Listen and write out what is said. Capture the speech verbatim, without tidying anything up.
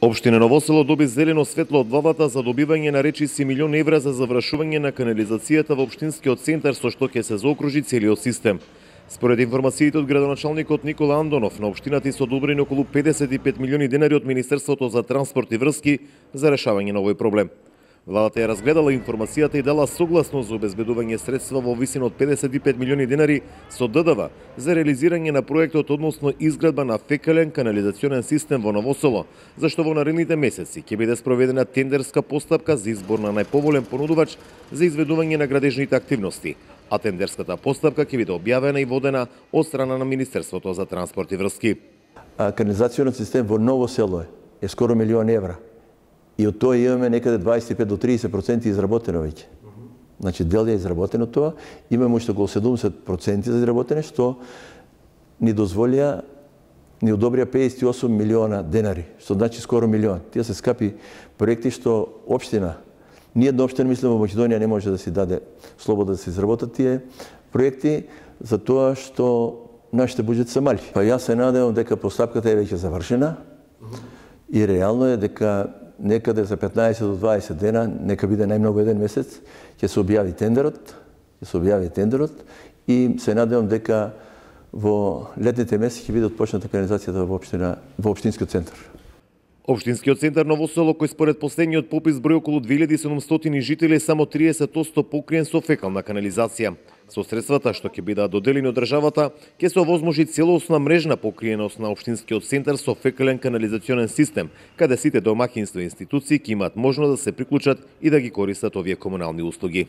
Општина Ново Село доби зелено светло од владата за добивање на речиси милион евра за завршување на канализацијата во општинскиот центар, со што ќе се заокружи целиот систем. Според информациите од градоначалникот Никола Андонов, на општината се одобрени околу педесет и пет милиони денари од Министерството за транспорт и врски за решавање на овој проблем. Владата ја разгледала информацијата и дала согласност за обезбедување средства во висина од педесет и пет милиони денари со Д Д В за реализирање на проектот односно изградба на фекален канализационен систем во Ново Село, зашто во наредните месеци ќе биде спроведена тендерска постапка за избор на најповолен понудувач за изведување на градежните активности, а тендерската постапка ќе биде објавена и водена од страна на Министерството за транспорт и врски. Канализационен систем во Ново Село е скоро милион евра. И од тоа имаме некаде дваесет и пет до триесет проценти изработено веќе. Значи, дел е изработено тоа, имаме уште околу седумдесет проценти за изработене, што ни дозволија, ни одобрија педесет и осум милиона денари, што значи скоро милион. Тие се скапи проекти што општина, ниедна општина, мислам, во Македонија не може да си даде слобода да се изработат тие проекти, за тоа што нашите буџети се мали. Па јас се надевам дека постапката е веќе завршена и реално е дека некаде за петнаесет до дваесет дена, нека биде најмногу еден месец, ќе се објави тендерот, ќе се објави тендерот и се надевам дека во летните месеци ќе биде отпочната канализацијата во општина, во општинскиот центар. Општинскиот центар Ново Село, кој според последниот попис број околу две илјади и седумстотини жители, само триесет одсто покриен со фекална канализација. Со средствата што ќе бидат доделени од државата, ќе се овозможи целосна мрежна покриеност на општинскиот центар со фекален канализационен систем, каде сите домаќинства и институции ќе имаат можност да се приклучат и да ги користат овие комунални услуги.